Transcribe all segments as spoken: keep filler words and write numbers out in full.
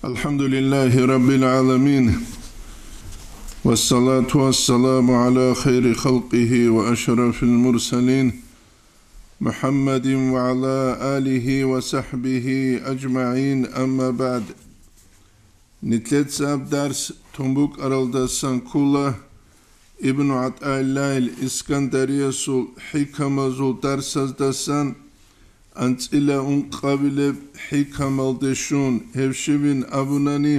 الحمد لله رب العالمين، والصلاة والسلام على خير خلقه وأشرف المرسلين، محمد وعلى آله وصحبه أجمعين، أما بعد. Нилъеца гьаб дарс тун букӀаралдасан ккола Ибну ГӀатӀаиллагьил Искандариясул хӀикамазул дарсаздасан анцӀила ункъабилеб хӀикамалде щун, гьеб щибин абунани: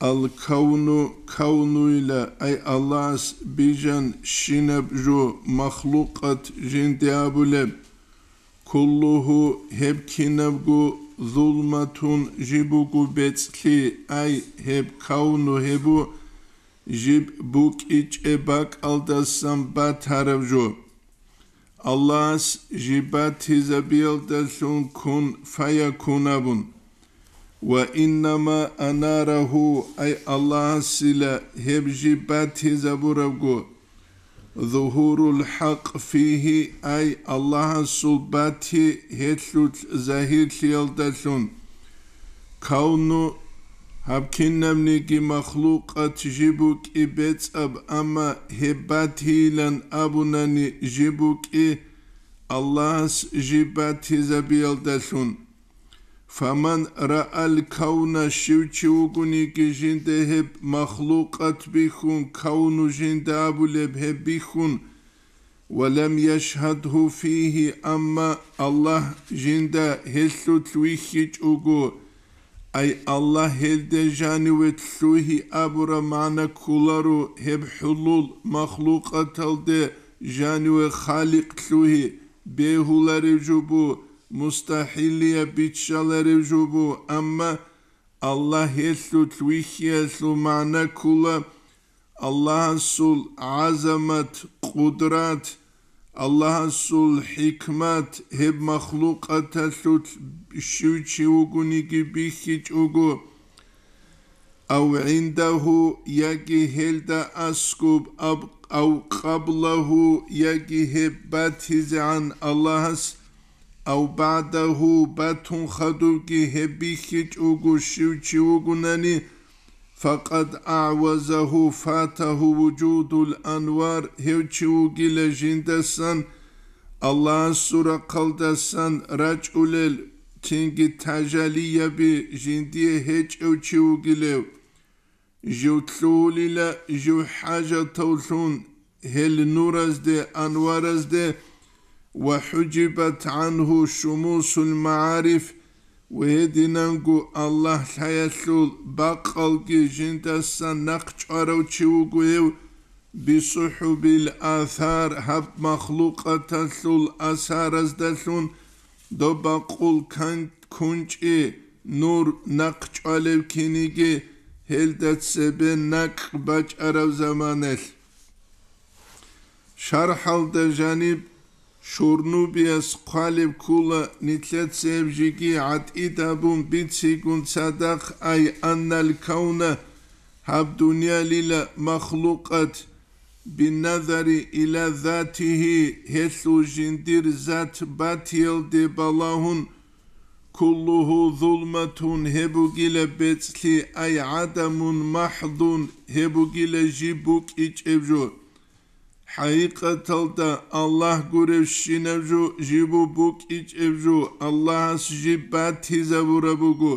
«Ал-кавну, кавнуйила», ай Аллагьас бижан щинаб жо махлукъат жинде абулеб, «куллугьу», гьеб кинабго, «зулматун», жиб буго бецӀлъи, ай гьеб кавну гьебу жиб букӀичӀеб бакӀалдасан батараб жо. Аллагьас жиб батизабиялдалъун кун фаякун абун. «Ва иннама анарагьу», ай Аллагьасила гьеб жиб батизабурабго, «зугьурул хӀакъ фигьи», ай Аллагьасул бати гьелъулъ загьирлъиялдалъун. Кавну, гьаб кинабниги махлукъат жиб букӀи бецӀаб, амма гьеб батийилан абунани жиб букӀи Аллагьас жиб батизабиялдалъун. «Фаман раал кавна», щив чи вугониги жинда гьеб махлукъат бихьун, кавну жинда абулеб гьеб бихьун, «ва лам яшгьадгьу фигьи», амма Аллагь жинда гьелъулъ вихьичӀого, ай Аллагь гьелде жаниве лъугьи абураб магӀна кколаро гьеб хӀулул махлукъаталде жаниве халикъ лъугьи бегьуларев жо бу, мустахӀиллияб биччаларев жо бу, амма Аллагь гьелъулъ вихьиялъул магӀна ккола Аллагьасул гӀазамат, къудрат, Аллагьасул хӀикмат, гьеб махлукъаталъулъ щив чи вугониги бихьичӀого, ав гӀиндагьу, яги гьелда аскӀуб, аб-, ав къаблагьу, яги гьеб батизегӀан Аллагьас, ав багӀдагьу, батун хадубги гьеб бихьичӀого щив чи вугунани, «факъад агӀвазагьу фатагьу вужудул анвар», гьев чи вугила жиндасан Аллагьасул рахъалдасан рачӀулел, цинги тажалияби жиндие гьечӀев чи вугилев. Жив лъугьулила жив хӀажатавлъун гьел нуразде, анваразде, «ва хӀужибат гӀангьу шумусул магӀариф», ва гьединанго Аллагь лъаялъул бакъалги жиндасан нахъчӀварав чи вуго гьев, «бисухӀубил асар», гьаб махлукъаталъул асараздалъун доб бакъул кан-, кунчӀи, нур нахъчӀвалев киниги гьелда цебе накӀкӀ бачӀараб заманалъ. ШархӀалда жаниб Шурнубияс хъвалеб ккола, нилъеца гьеб жеги гӀатӀид абун бицигун цадахъ, ай аннал кавна, гьаб дуниялила махлукъат, бинназари иля затигьи, гьелъул жиндир зат батиялде балагьун, куллугьу зулматун, гьеб бугила бецӀлъи, ай гӀадамун махӀдун, гьеб бугила жиб букӀичӀеб жо. ХӀакъикъаталда Аллагь гуревщинаб жо жиб букӀичӀеб жо Аллагьас жиб батизабураб буго,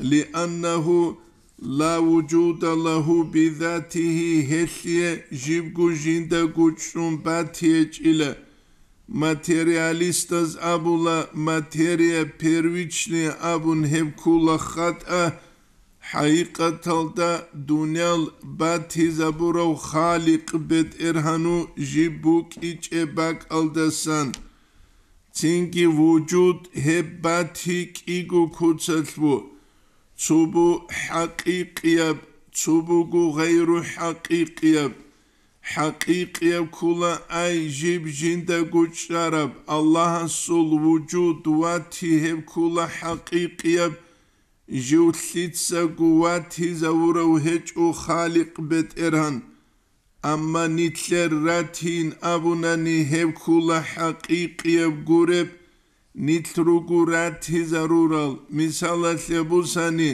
лианнагьу ла вужуда лагьу бизатигьи, гьелъие жибго жиндаго чӀун батиячӀила. Материалистаз абула, материя первичная абун гьеб ккула хатӀа, хӀакъикъаталда дуниял батизабурав Халикъ БетӀергьану жиб букӀичӀеб бакӀалдасан. Цинги вужуд гьеб бати кӀиго куцалъ бу, цо бу хӀакъикъияб, цо буго гъайру хӀакъикъияб. ХӀакъикъияб ккула ай жиб жиндаго чӀараб, Аллагьасул вужуд вати гьеб ккула хӀакъикъияб, жив лъицаго ватизавурав гьечӀо Халикъ БетӀергьан. Амма нилъер ратин абунани гьеб ккула хӀакъикъияб гуреб, нилъ руго ратизарурал, мисалалъе бусани,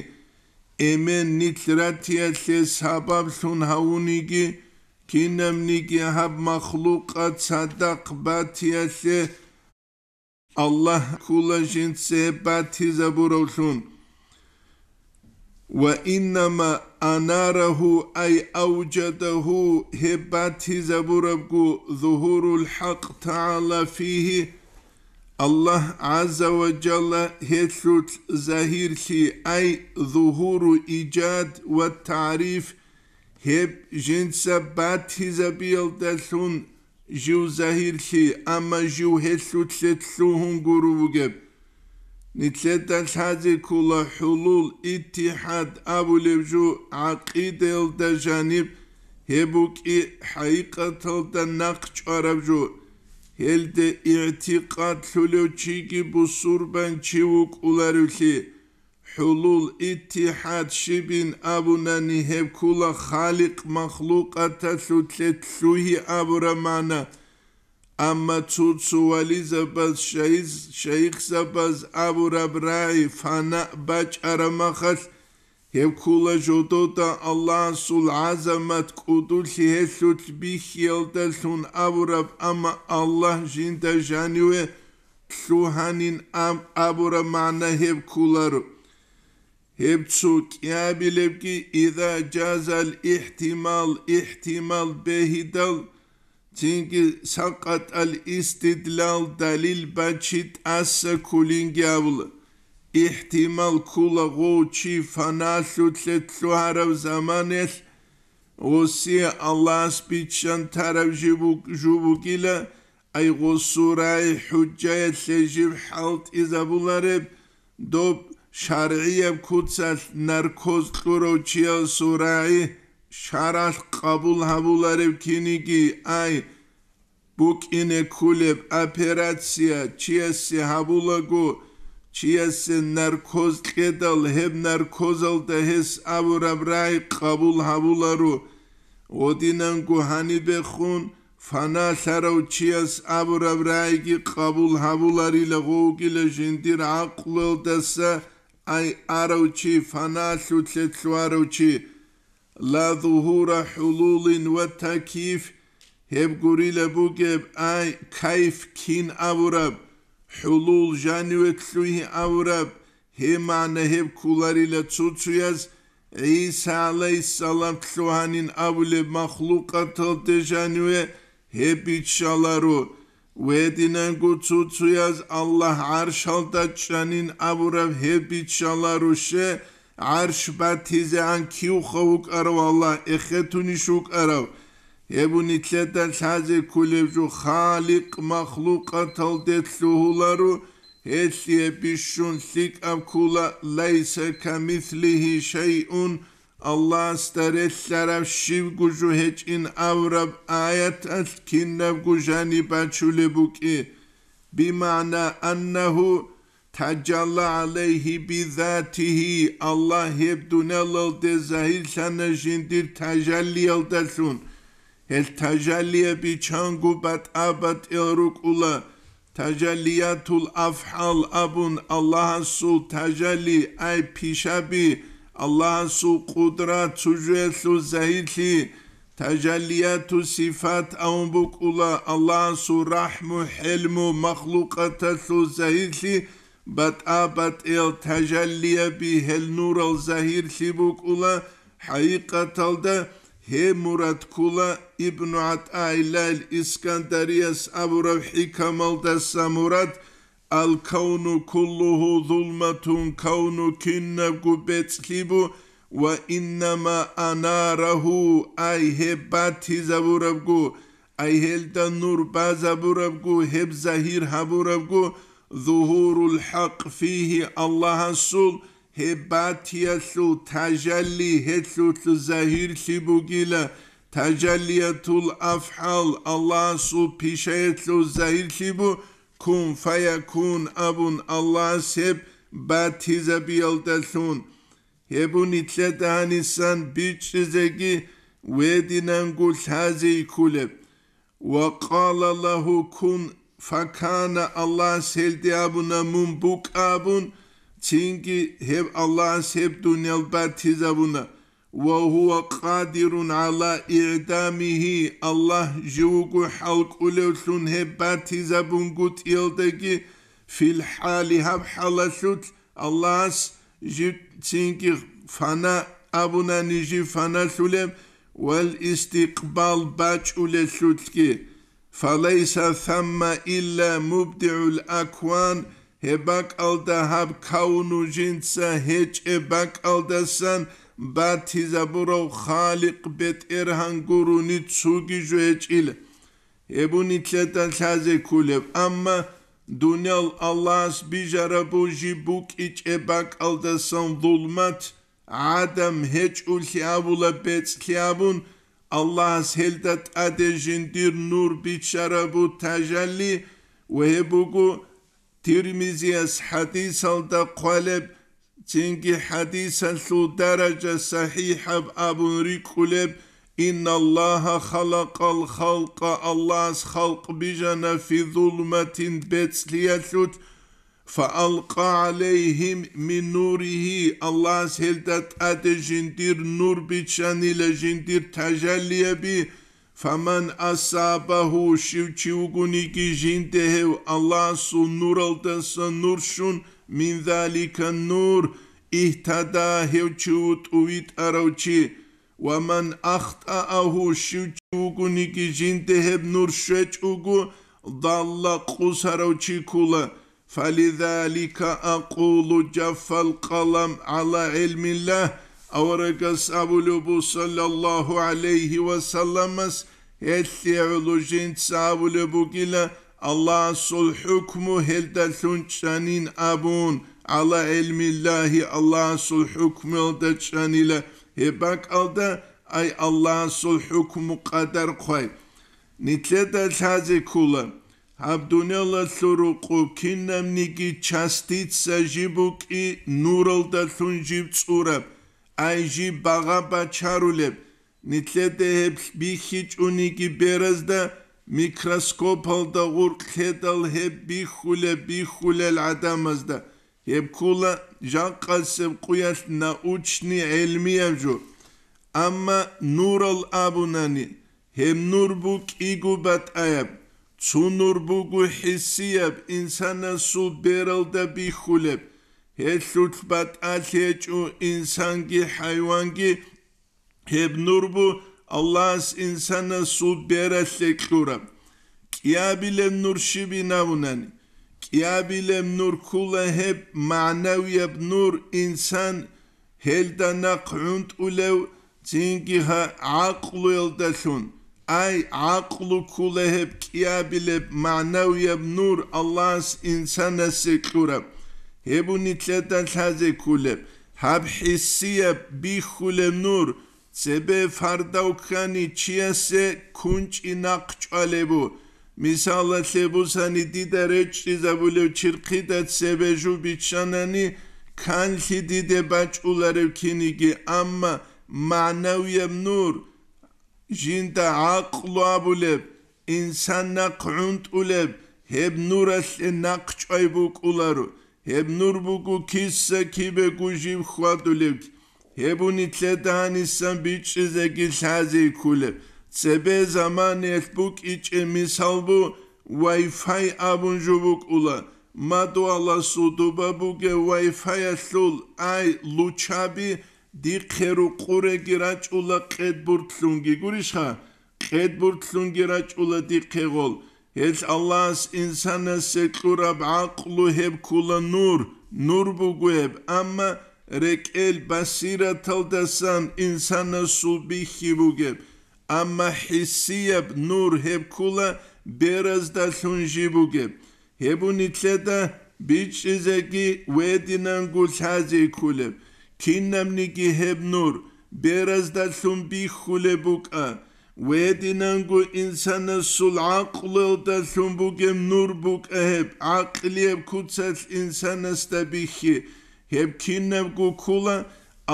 эмен нилъ ратиялъе сабаблъун гьавуниги, кинабниги гьаб махлукъат цадахъ батиялъе Аллагь ккула жинца гьеб батизабуравлъун. Ва иннама анарагьу, ай авжадагьу, гьеб батизабурабго, зугьурул хӀакъ тагӀала фигьи, Аллагь гӀазза ва жалла гьелъулъ загьирлъи, ай зугьуру ижад ва тагӀриф, гьеб жинца батизабиялдалъун жив загьирлъи, амма жив гьелъулъе лъугьун гуро вугеб. Нилъеда лъазе ккола хӀулул, иттихӀад абулеб жо гӀакъидаялда жаниб, гьеб букӀи хӀакъикъаталда нахъ чӀвараб жо. Гьелде игӀтикъадлъулев чиги бусурбан чи вукӀуларевлъи, хӀулул, иттихӀад щибин абунани, гьеб ккула халикъ махлукъаталъулъе лъугьи абураб магӀна. Амма цо-цо вализабаз, шайз-, шайихзабаз абураб рагӀи фана бачӀараб махалъ, гьеб ккула жодода Аллагьасул гӀазамат кӀудулъи гьелъулъ бихьиялдалъун абураб, амма Аллагь жинда жаниве лъугьанин аб-, абураб магӀна гьеб кколаро. Гьеб цо кӀиабилебги, иза жазал ихтимал, ихтимал бегьидал, цинги сакъатӀал истидлал, далил бачи тӀаса кколинги абула. Ихтимал ккола гъов чи фаналъулъе лъугьараб заманалъ гъосие Аллагьас биччан тараб жиб буг-, жо бугила, ай гъосул рагӀи хӀужаялъе жиб хӀалтӀизабулареб, доб шаргӀияб куцалъ наркоз кьурав чиясул рагӀи шаргӀалъ къабул гьабулареб киниги, ай букӀине кколеб операция чиясе гьабулаго, чиясе наркоз кьедал, гьеб наркозалда гьес абураб рагӀи къабул гьабуларо. Гъодинанго гьанибехун фаналъарав чияс абураб рагӀиги къабул гьабуларила гъовгила жиндир гӀакълуялдаса, ай арав чи фаналъулъе лъугьарав чи. Ла зугьура хӀулулин ва такйиф, гьеб гурила бугеб, ай кайф кин абураб, хӀулул жаниве лъугьи абураб, гьеб магӀна гьеб кколарила цо-цояз ГӀиса гӀалайгьиссалам лъугьанин абулеб махлукъаталде жаниве гьеб биччаларо. Гьединанго цо-цояз Аллагь гӀаршалда чӀанин абураб гьеб биччаларо, ще гӀарш батизегӀан кивха вукӀарав Аллагь, эхетунищ вукӀарав? Гьеб нилъеда лъазе кколеб жо халикъ махлукъаталде лъугьуларо, гьелъие бищун лъикӀаб ккола, лайса камислигьи шайъун, Аллагьасда релълъараб щибго жо гьечӀин абураб аяталъ кинабго жаниб бачулеб букӀи, бимагӀна аннагьу тажалла гӀалайгьи бизатигьи, Аллагь гьеб дуниялалде загьирлъана жиндир тажаллиялдалъун. Гьел тажаллияби чанго батӀа-батӀиял рукӀула, тажаллиятул афгӀал абун, Аллагьасул тажалли, ай пишаби, Аллагьасул къудрат, цужуялъул загьирлъи, тажаллияту сифат абун букӀула, Аллагьасул рахӀму, хӀелму, махлукъаталъул загьирлъи, батӀа-батӀиял тажаллияби, гьел нурал загьирлъи букӀула, хӀакъикъаталда гьеб мурад ккула Ибну ГӀатӀаиллагьил Искандарияс абураб хӀикамалдаса мурад: «Ал-кавну куллугьу зулматун», кавну кинабго бецӀлъи бу, «ва иннама анарагьу», ай гьеб батизабурабго, ай гьелда нур базабурабго, гьеб загьир гьабурабго, «зугьурул хӀакъ фигьи», Аллагьасул гьеб батиялъул тажалли гьелъулъ загьирлъи бугила, тажаллиятул афгӀал Аллагьасул пишаялъул загьирлъи бу, «кун фаякун» абун Аллагьас гьеб батизабиялдалъун. Гьеб нилъеда гьанисан бичӀчӀизеги гьединанго лъазе кколеб. «Ва къала лагьу кун факана», Аллагьас гьелде абуна: «Мун букӀа», абун, цинги гьеб Аллагьас гьеб дуниял батизабуна. «Ва гьува къадирун гӀала игӀдамигьи», Аллагь жив вуго хӀалкӀулевлъун гьеб батизабунгутӀиялдаги, фил хӀали, гьаб хӀалалъулъ Аллагьас жив цинги фана абунани жив фаналъулеб, вал истикъбал бачӀулелъулъги. «Фалайса самма илла мубдигӀул акван», гьеб бакӀалда, гьаб кавну жинца гьечӀеб бакӀалдасан батизабурав Халикъ БетӀергьан гурони цоги жо гьечӀила. Гьеб нилъеда лъазе кколеб, амма дуниял Аллагьас бижараб жиб букӀичӀеб бакӀалдасан зулмат, гӀадам гьечӀолъи абула, бецӀлъи абун, Аллагьас гьелда тӀаде жиндир нур биччарабу тажалли, ва гьеб буго Тирмизияс хӀадисалда хъвалеб, цинги хӀадисалъул даража сахӀихӀаб абун рикӀкӀулеб: «Инналлагьа халакъал халкъа», Аллагьас халкъ бижана, «фи зулматин», бецӀлъиялъулъ, «фаалкъа гӀалайгьим мин нуригьи», Аллагьас гьелда тӀаде жиндир нур биччанила, жиндир тажаллияби, «фаман асабагьу», щив чи вугониги жинде гьев Аллагьасул нуралдаса нур щун, «мин залика нур», игьтада, гьев чи ву тӀувитӀарав чи, «ва ман ахтӀаагьу», щив чи вугониги жинде гьеб нур щвечӀого, «далла», къусарав чи ккула. «Фализалика акъулу, жаффал къалам гӀала гӀилмиллагь», аварагас абулеб бу, саллаллагьу гӀалайгьи ва салламас, гьелъие гӀоло жинца абулеб бугила, Аллагьасул хӀукму гьелдалъун чӀанин абун, гӀала гӀилмиллагьи, Аллагьасул хӀукмуялда чӀанила, гьеб бакӀалда, ай, Аллагьасул хӀукму къадар хъвай. Нилъеда лъазе ккола, гьаб дуниялалъул рукъу кинабниги частица жиб букӀи нуралдалъун жиб цӀураб, ай жиб багъа бачарулеб, нилъеда гьеб бихьичӀониги беразда, микроскопалда гъуркь лъедал гьеб бихьулеб, бихьулел гӀадамазда, гьеб ккола жакъасеб къуялъ научный гӀелмияб жо. Амма нурал абунани, гьеб нур букӀиго батӀаяб, цо нур буго хӀиссияб, инсанасул бералда бихьулеб, гьелъулъ батӀалъи гьечӀо инсанги хӀайванги, гьеб нур бу Аллагьас инсанасул бералъе кьураб. КӀиабилеб нур щибин абунани, кӀиабилеб нур ккула гьеб магӀнавияб нур, инсан гьелда нахъ гӀунтӀулев цинги гьа-, гӀакълуялдалъун. Ай, гӀакълу ккула гьеб кӀиабилеб магӀнавияб нур Аллагьас инсанасе кьураб. Гьеб нилъеда лъазе кколеб, гьаб хӀиссияб бихьулеб нур, цебе фардав ккани чиясе кунчӀи нахъ чӀвалебу. Мисалалъе бусани, дида речӀчӀизабулев чирхъида цебе жо биччанани, канлъи диде бачӀуларев киниги, амма магӀнавияб нур, жинда гӀакълу абулеб, инсан нахъ гӀунтӀулеб, гьеб нуралъе нахъ чӀвай букӀуларо, гьеб нур буго киса-кибего жив хьвадулев. Гьеб нилъеда гьанисан бичӀчӀизеги лъазе кколеб. Цебе заманаялъ букӀичӀеб мисал бу, Wi-Fi абун жо букӀула. Мадуаласул дуба бугеб Wi-Fi-ялъул, ай, лучаби дихъе рукъуреги рачӀула къедбуртлъунги, гурищха? Къедбуртлъунги рачӀула дихъе гъол. Гьел Аллагьас инсанасе кьураб гӀакълу гьеб ккула нур, нур буго гьеб, амма рекӀел басираталдасан инсанасул бихьи бугеб, амма хӀиссияб нур гьеб ккула бераздалъун жи бугеб. Гьеб нилъеда бичӀчӀизеги гьединанго лъазе кколеб. Кинабниги гьеб нур бераздалъун бихьулеб букӀа, гьединанго инсанасул гӀакълуялдалъун бугеб нур букӀа гьеб, гӀакълияб куцалъ инсанасда бихьи. Гьеб кинабго ккула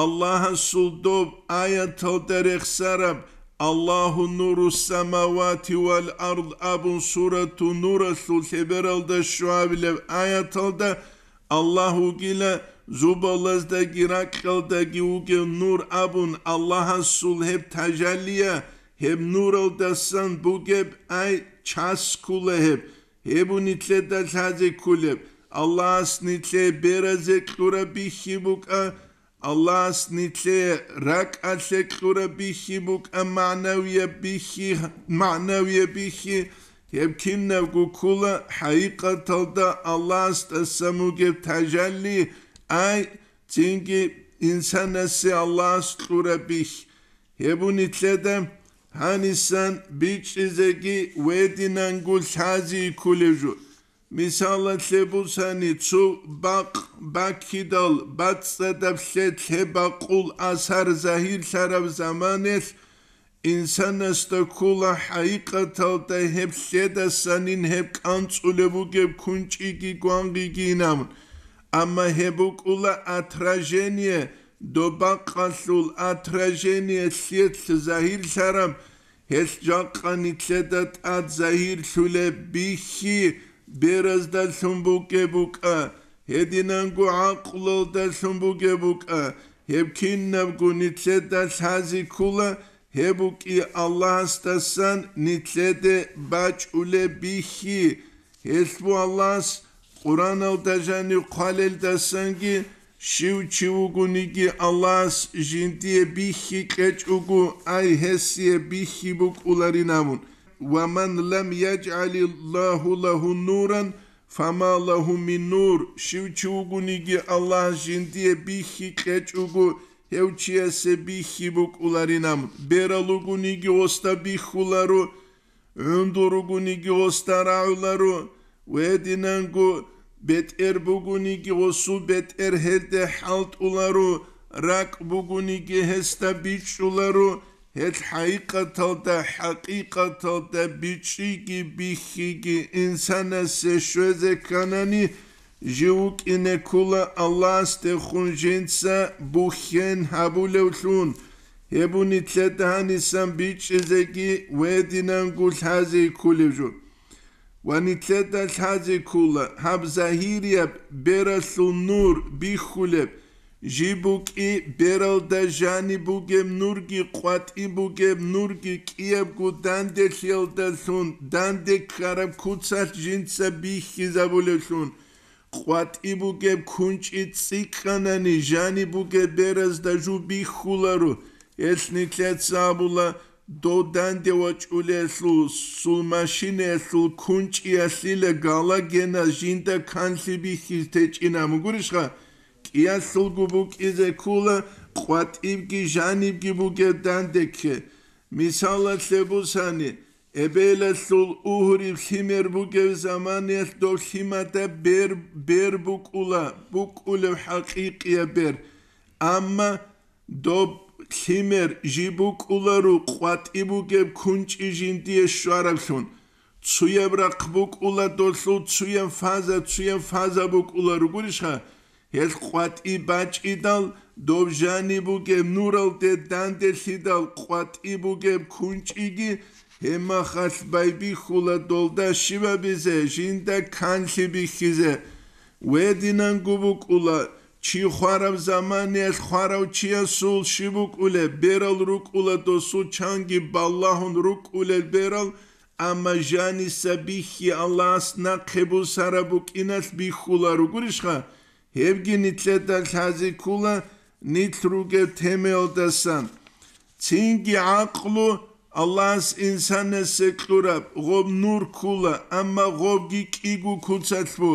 Аллагьасул доб аяталда рехсараб: «Аллагьу нуру самавати вал ард», абун, Сурату Нуралъул лъебералда щуабилеб аяталда Аллагь вугила зубалаздаги ракьалдаги вугев нур абун, Аллагьасул гьеб тажалия, гьеб нуралдасан бугеб, ай, час ккула гьеб. Гьеб у нилъеда лъазе кколеб. Аллагьас нилъее беразе кьураб бихьи букӀа, Аллагьас нилъее ракӀалъе кьураб бихьи букӀа, магӀнавияб бихьи, магӀнавияб бихьи, гьеб кинабго ккула хӀакъикъаталда Аллагьасдасан бугеб тажалли, ай, цинги инсанасе Аллагьас кьураб бихь. Гьеб у нилъеда гьанисан бичӀчӀизеги гьединанго лъази кколев жо. Мисалалъе бусани, цо бакъ баккидал бацӀцӀадаб лъелъ гьеб бакъул асар загьирлъараб заманалъ, инсанасда ккола хӀакъикъаталда гьеб лъедасанин гьеб кӀанцӀулеб бугеб кунчӀиги гвангъиги инабун. Амма гьеб букӀула отражение, доб бакъалъул отражение лъелъ загьирлъараб, гьелъ жакъа нилъеда тӀад загьирлъулеб бихьи бераздалъун бугеб букӀа, гьединанго гӀакълалдалъун бугеб букӀа, гьеб кинабго нилъеда лъази ккула, гьеб букӀи Аллагьасдасан нилъеде бачӀулеб бихьи. Гьелъ бу Аллагьас Къуръаналда жанив хъвалелдасанги, щив чи вугониги Аллагьас жиндие бихьи кьечӀого, ай гьесие бихьи букӀуларин абун. «Ва ман лам яжгӀалиллагьу лагьу нуран, фама лагьу мин нур». Щив чи вугониги Аллагьас жиндие бихьи кьечӀого, гьев чиясе бихьи букӀуларин абун. Берал ругониги гъосда бихьуларо, гӀундул ругониги гъосда рагӀуларо, гьединанго бетӀер бугониги гъосул бетӀер гьелде хӀалтӀуларо, ракӀ бугониги гьесда бичӀчӀуларо, гьелъ хӀакъикъаталда, хӀакъикъаталда бичӀчӀиги бихьиги инсанасе щвезе кканани, жив вукӀине ккула Аллагьасдехун жинца бухьен гьабулевлъун. Гьеб у нилъеда гьанисан бичӀчӀизеги гьединанго лъази кколев жо. Ва нилъеда лъази ккула гьаб загьирияб бералъул нур бихьулеб, жиб букӀи бералда жаниб бугеб нурги къватӀиб бугеб нурги кӀиябго данделъиялдалъун данде ккараб куцалъ жинца бихьизабулевлъун. КъватӀиб бугеб кунчӀи цӀикӀкӀанани, жаниб бугеб беразда жу бихьуларо, гьелъ нилъеца абула, дов данде вачӀулелъул, сул машинаялъул кунчӀиялъила галагена жинда канлъи бихьизе течӀина, мугурищха? КӀиялъулго букӀизе ккула къватӀибги жанибги бугеб данде кке. Мисалалъе бусани, эбелалъул угьриб лъимер бугев заманаялъ доб лъимада бер, бер букӀула, букӀулев хӀакъикъияб бер. Амма доб лъимер жиб букӀуларо къватӀиб бугеб кунчӀи жиндие щвараблъун. Цуяб рахъ букӀула долъул цуяб фаза, цуяб фаза букӀуларо, гурищха? Гьел къватӀи бачӀидал, доб жаниб бугеб нуралде данделъидал къватӀи бугеб кунчӀиги гьеб махалъ байбихьула долда щибабизе, жинда канлъи бихьизе. Гьединанго букӀула, чи хвараб заманаялъ хварав чиясул щиб букӀулеб, берал рукӀула досул чанги балагьун рукӀулел берал, амма жаниса бихьи Аллагьас нахъе бусараб букӀиналъ бихьуларо, гурищха? Гьебги нилъеда лъази ккула нилъ ругеб темаялдасан. Цинги гӀакълу Аллагьас инсанасе кьураб, гъоб нур ккула, амма гъобги кӀиго куцалъ бу.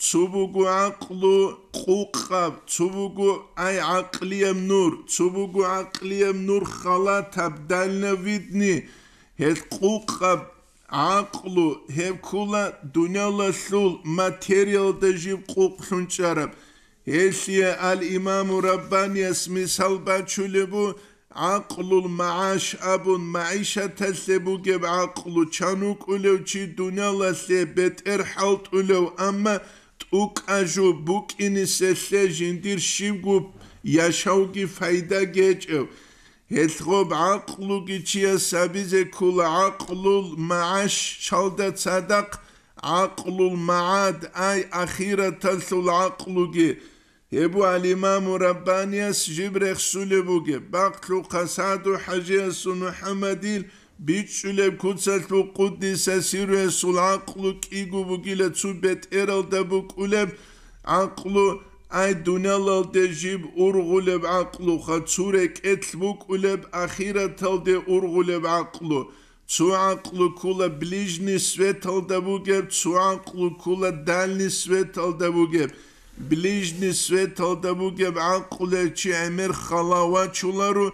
Цо буго гӀакълу къукъаб, цо буго, ай, гӀакълияб нур, цо буго гӀакълияб нур халатаб, дальновидный, гьел къукъаб, гӀакълу гьеб ккула дуниялалъул материялда жиб къукълъун чӀараб. Гьелъие ал-Имаму Раббанияс мисал бачулеб бу, гӀакълул магӀаш абун, магӀишаталъе бугеб гӀакълу, чан вукӀулев чи дуниялалъе бетӀер хӀалтӀулев, амма тӀукӀа жо букӀиниселъе жиндир щибго яшавги пайда гьечӀев. Гьелъ гъоб гӀакълуги чияс гьабизе ккола гӀакълул магӀаш чалда цадахъ, гӀакълул магӀад, ай ахираталъул гӀакълуги. Гьеб буго ал-Имаму Раббанияс жиб рехсулеб бугеб, бакълъухъа СагӀду ХӀажиясул МухӀаммадил бичӀчӀулеб куцалъул къуддиса сирруясул гӀакълу кӀиго бугила цо бетӀералда букӀулеб гӀакълу, ай дуниялалде жиб ургъулеб гӀакълуха, цо рекӀелъ букӀулеб ахираталде ургъулеб гӀакълу. Цо гӀакълу ккола ближний светалда бугеб, цо гӀакълу ккола дальний светалда бугеб. Ближний светалда бугеб гӀакълуялъ чи гӀемер хала вачуларо,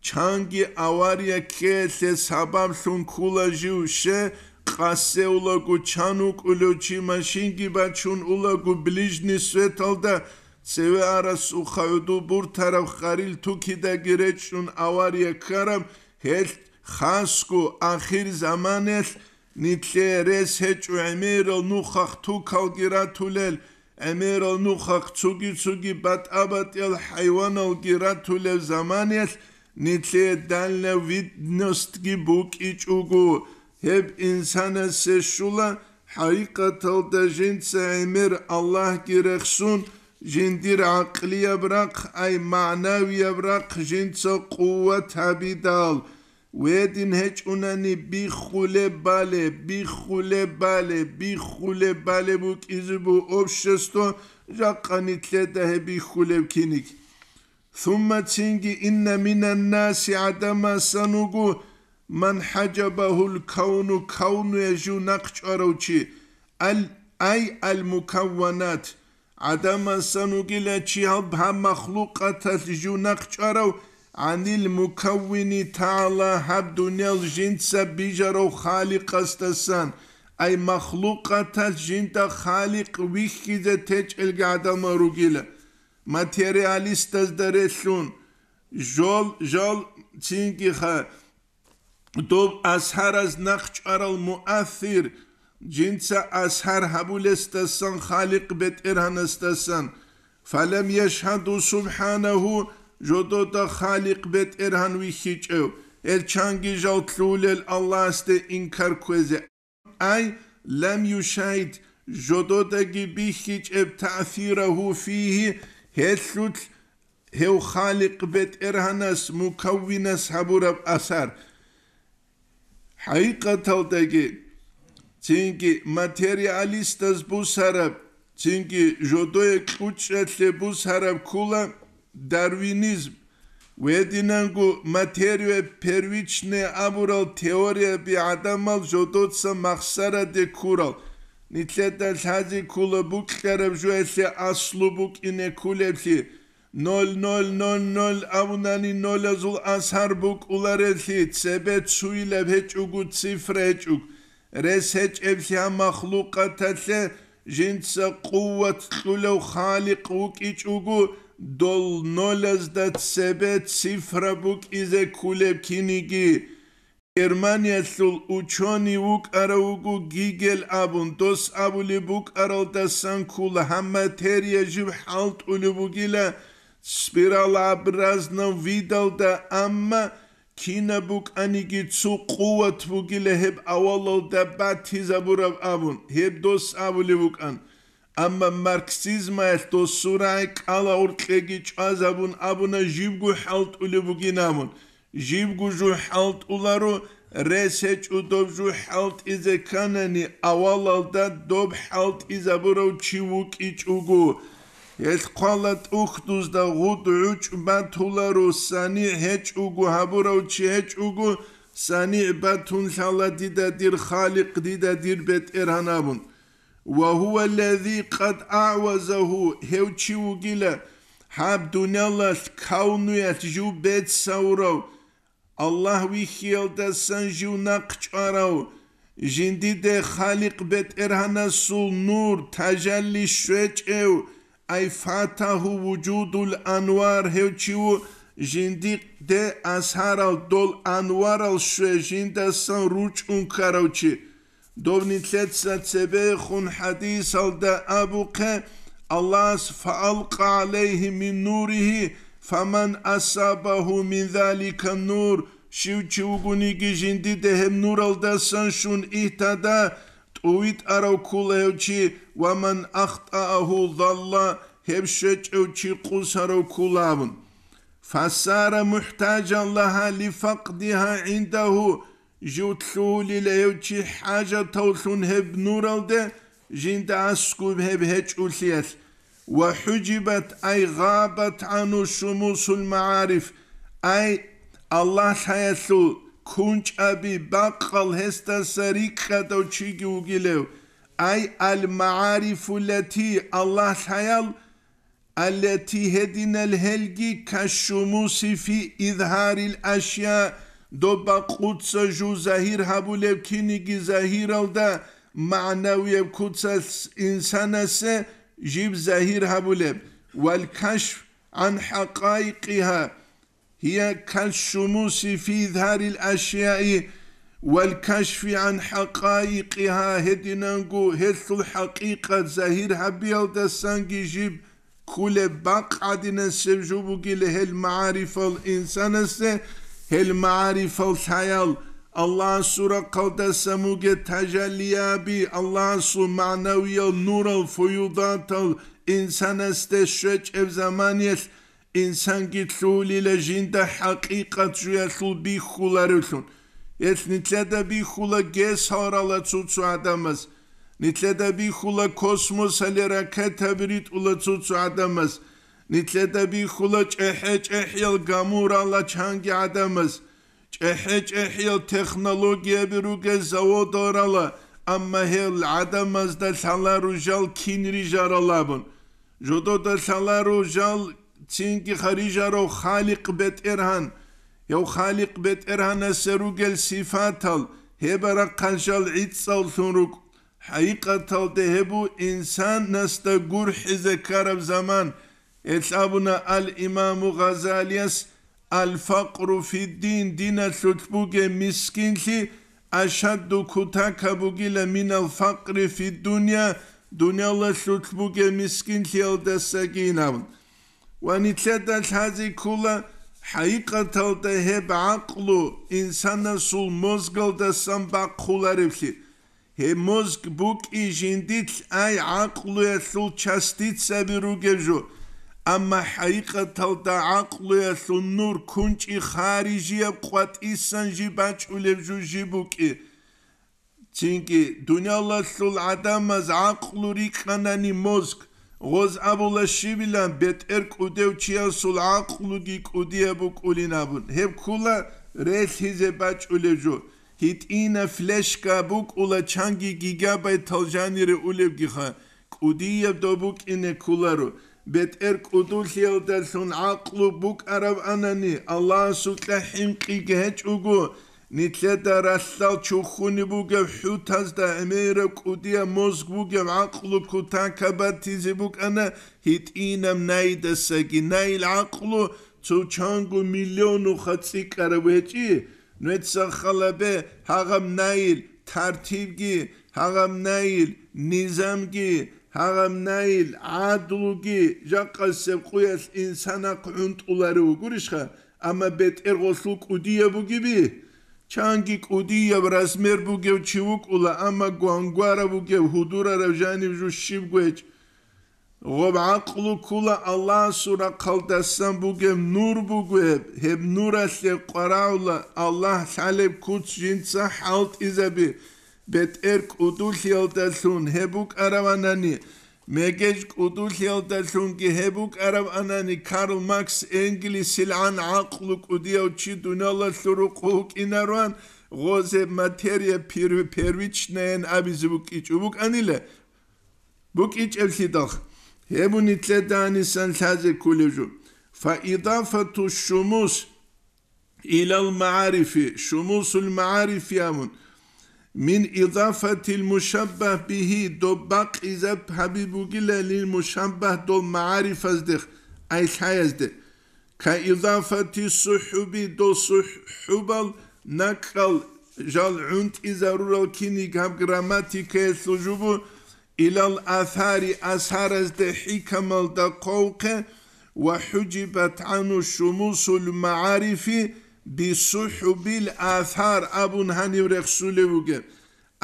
чанги авария ккеялъе сабаблъун ккола жив, ще къассе улаго, чан вукӀулев чи машинги бачун улаго ближний светалда, цеве арасухъа гӀуду буртараб харил тукидаги речӀчӀун авария ккараб, гьелъ хасго ахир заманалъ нилъее рес гьечӀо гӀемерал нухахъ тукалги ратулел, гӀемерал нухахъ цоги-цоги батӀа-батӀиял хӀайваналги ратулев заманалъ нилъее дальновидностьги букӀичӀого. Гьеб инсанасе щула, хӀакъикъаталда жинца гӀемер Аллагьги рехсун, жиндир гӀакълияб рахъ, ай магӀнавияб рахъ жинца къуват гьабидал, Гьедин гьечӀунани биххулеб балеб, биххулеб балеб, биххулеб балеб букӀизе буго общество, жакъа нилъеда гьеб биххулеб киниг. Сумма цинги, инна минан наси, гӀадамасан вуго, ман хӀажабагьул кавну, кавнуе жив нахъ чӀварав чи, ал, ай ал мукавванат, ГӀадамасан вугила чи гьаб, гьаб махлукъаталъ жив нахъ чӀварав, гӀанил мукаввини тагӀала, гьаб дуниял жинца бижарав Халикъасдасан, ай махлукъаталъ жинда Халикъ вихьизе течӀелги гӀадамал ругила. Материалистазда релълъун, жол, жол цинги ха-, доб асхӀараз нахъ чӀварал муассир, жинца асхӀар гьабулесдасан Халикъ БетӀергьанасдасан, фалам яшгьаду субхӀанагьу, жодода Халикъ БетӀергьан вихьичӀев, гьел чанги жал лъугьулел Аллагьасде инкар кквезе. Ай лам юшагьид, жододаги бихьичӀеб таъсирагьу фигьи, гьелъулъ гьев Халикъ БетӀергьанас, Мукаввинас гьабураб асар. ХӀакъикъаталдаги, цинги материалистаз бусараб, цинги жодое кьучӀалъе бусараб ккола дарвинизм, гьединанго материя первичная абурал теорияби гӀадамал жодоца махсараде ккурал, нилъеда лъазе ккола букьараб жоялъе аслу букӀине кколеблъи, ноль ноль ноль ноль абунани нолазул асар букӀулареблъи, цебе цуилаб гьечӀого цифра гьечӀого, рес гьечӀеблъи гьаб махлукъаталъе жинца къуват кьулев Халикъ вукӀичӀого, дол нолазда цебе цифра букӀизе кколеб киниги. Германиялъул учёный вукӀарав вуго Гигель абун, дос абулеб букӀаралдасан ккола гьаб материя жиб хӀалтӀулеб бугила спиралообразном видалда, амма кинаб букӀаниги цо къуват бугила гьеб авалалда батизабураб абун, гьеб дос абулеб букӀан. Амма марксизмаялъ досул рагӀи кӀала гьоркьеги чӀвазабун абуна, жибго хӀалтӀулеб бугин абун. Жибго жугь хӀалтӀуларо, рес гьечӀо доб жугь хӀалтӀизе кканани, авалалда доб хӀалтӀизабурав чи вукӀичӀого. Гьелъ хъвала тӀухьдузда гъуд гӀучӀ батуларо, санигӀ гьечӀого гьабурав чи гьечӀого, санигӀ батун лъала дида дир Халикъ, дида дир БетӀергьан абун. Ва гьува ллази къад агӀвазагьу, гьев чи вугила, гьаб дуниялалъ кавнуялъ жив бецавурав, Аллагь вихьиялдасан жив нахъ чӀварав, жиндиде Халикъ БетӀергьанасул нур, тажалли щвечӀев, ай фатагьу вужудул анвар, гьев чи ву, жиндиде асарал дол анварал щве, жиндасан ручӀун ккарав чи. Доб нилъеца цебехун хӀадисалда абухъе, Аллагьас: «Фаалкъа гӀалайгьи мин нуригьи, фаман асабагьу мин залика нур», щив чи вугониги жиндиде гьеб нуралдасан щун ихтада, тӀувитӀарав ккула гьев чи, ва ман ахтӀаагьу залла, гьев щвечӀев чи къусарав ккула абун. Фасара мухӀтажан лагьа лифакъдигьа гӀиндагьу, жив лъугьулила гьев чи хӀажатавлъун гьеб нуралде, жинда аскӀуб гьеб гьечӀулъиялъ. Ва хӀужибат, ай гъабат гӀану шумусул магӀариф, ай Аллагь лъаялъул кунчӀаби бакъал гьесдаса рикӀкӀадав чиги вугилев, ай ал-магӀарифуллати, Аллагь лъаял, аллати, гьединал гьелги, кашшумуси фи изгьарил ашя, доб бакъуца жу загьир гьабулеб киниги загьиралда, магӀнавияб куцалъ инсанасе жиб загьир гьабулеб, вал кашф гӀан хӀакъаикъигьа, гьия кашшумуси фи изгьарил ашяи, вал кашфи гӀан хӀакъаикъигьа, гьединанго гьелъул хӀакъикъат загьир гьабиялдасанги жиб ккулеб бакъ гӀадинасеб жо бугила гьел магӀарифал инсанасе, гьел магӀарифал лъаял, Аллагьасул рахъалдаса мугеб тажаллияби, Аллагьасул магӀнавиял нурал, фуюдатал инсанасде щвечӀеб заманиялъ инсанги лъугьулила жинда хӀакъикъат жуялъул бихьуларевлъун. Гьелъ нилъеда бихьула гес гьарала цо-цо гӀадамаз. Нилъеда бихьула космосалде ракетаби ритӀула цо-цо гӀадамаз. Нилъеда бихьула чӀехӀе-чӀехӀиял гамурала чанги гӀадамаз. ЧӀехӀе-чӀехӀиял технологияби ругел заводал рала, амма гьел гӀадамазда лъаларо жал кин рижарал абун. Жодода лъаларо жал цинги рижарав Халикъ БетӀергьан. Гьев Халикъ БетӀергьанасе ругел сифатал, гьеб рахъалъ жал гӀицӀаллъун рукӀ. ХӀакъикъаталда гьеб бу инсанасда гурхӀизе ккараб заман. Гьелъ абуна ал-Имаму Гъазалияс: «Ал-факъру фиддин», диналъулъ бугеб мискинлъи ашадду кутакаб бугила минал факъри фиддунья, дунялалъулъ бугеб мискинлъиялдасагин абун. Ва нилъеда лъазе ккола хӀакъикъаталда гьеб гӀакълу инсанасул мозгалдасан бахъуларевлъи. Гьеб мозг букӀи жиндилъ ай гӀакълуялъул частицаби ругеб жо, амма хӀакъикъаталда гӀакълуялъул нур кунчӀи харижияб къватӀисан жи бачӀулеб жо жи букӀи. Цинги, дуниялалъул гӀадамаз гӀакълу рикӀкӀанани мозг, гъоз абула щибилан бетӀер кӀудев чиясул гӀакълуги кӀудияб букӀулин абун. Гьеб ккула релъизе бачӀулеб жо. ГьитӀина флешка букӀула чанги гигабайтал жанире улебгиха, кӀудияб доб букӀине кколаро. БетӀер кӀудулъиялдалъун гӀакълу букӀараб анани, Аллагьасукьа хӀинкъиги гьечӀого, нилъеда ралъдал чухьунеб бугеб хӀутазда гӀемераб кӀудияб мозг бугеб гӀакълу кутакаб батизе букӀана гьитӀинаб найидасаги. Найил гӀакълу цо чанго миллионуха цӀикӀкӀараб гьечӀи, Нугьеца халабе гьагъаб найил тартибги, гьагъаб найил низамги, гьагъаб найил гӀадлуги жакъасеб къуялъ инсанахъ гӀунтӀуларев вугурищха, амма бетӀергъолъул кӀудияб бугеби? Чанги кӀудияб размер бугев чи вукӀула, амма гвангварав вугев, гьудурарав жанив жо щибго гьечӀ. Гъоб гӀакълу ккула Аллагьасул рахъалдасан бугеб нур буго гьеб, гьеб нуралъе къварагӀула Аллагь лъалеб куц жинца хӀалтӀизаби, бетӀер кӀудулъиялдалъун гьеб букӀараванани, мегеж кӀудулъиялдалъунги гьеб букӀараванани, Карл Маркс ЭнгельсилгӀан гӀакълу кӀудияв чи дуниялалъул рукъу вукӀинаруан, гъоз гьеб материя пер-, первичнаян абизе букӀичӀо букӀанила. БукӀичӀеблъидал, гьеб нилъеда гьанисан лъазе кколеб жо. Фаидафату шумус илал магӀарифи, шумусул магӀарифи абун, мин идафатил мушаббагь бигьи, доб бакъизаб гьабиб бугила лил мушаббагь дол магӀарифаздехъ, ай лъаязде. Ка идафати сухӀуби, дол сухӀубал накӀкӀал жал гӀунтӀизарурал киниг гьаб грамматикаялъул жубу, илал асари, асаразде хӀикамалда хъвавхъе, ва хӀужибат гӀану шумусул магӀарифи бисухӀубил асар абун гьанив рехсулев вугеб.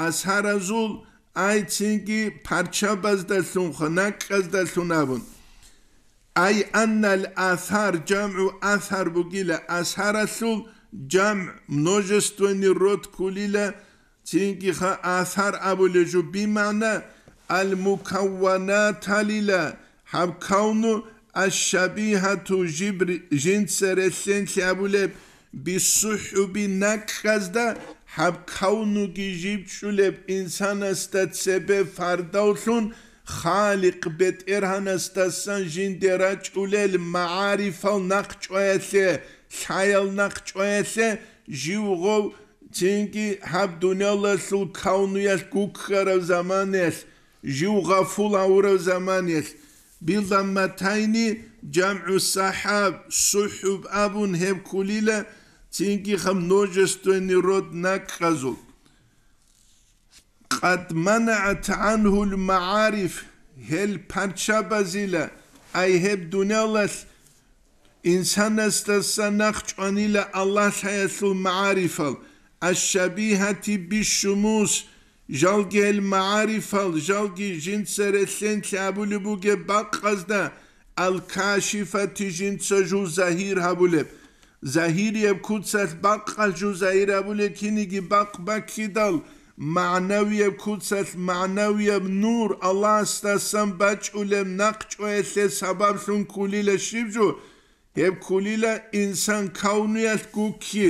Асаразул ай цинги парччабаздалъунха, накӀкӀаздалъун абун. Ай аннал асар, жамгӀу асар бугила, асаралъул жамгӀ, множественный род кколила, цинги ха асар абулеб жо, бимагӀна ал-мукавванаталила, гьаб кавну аш-шабигьату жиб ри-, жинца релълъенлъи абулеб, бисухӀуби накӀкӀазда, гьаб кавнуги жиб чӀулеб инсанасда цебе фардавлъун, Халикъ БетӀергьанасдасан жинде рачӀулел магӀарифал нахъчӀваялъе, лъаял нахъчӀваялъе, жив гъов цинги гьаб дуниялалъул кавнуялъ гуккарав заманаялъ, жив гъафул гьавурав заманаялъ, билламатайни, жамгӀу сахӀаб, сухӀуб абун гьеб кколила, цинги гьаб множественный род накӀкӀазул. Къад манаат гӀанхул магӀариф, гьел парччабазила, ай гьеб дуниялалъ инсанасдаса нахъчӀванила Аллагьлъаялъул магӀарифал, аш-шабигьати бишшумус, жалги гьел магӀарифал, жалги жинца релълъенлъи абулеб бугеб бакъазда, ал-кашифати жинца жув загьир гьабулеб. Загьирияб куцалъ бакъалъ жув загьир гьабулеб киниги бакъ баккидал, магӀнавияб куцалъ магӀнавияб нур Аллагьасдасан бачӀулеб нахъчӀваялъе сабаблъун кколила щиб жо? Гьеб кколила инсан кавнуялъ гукки.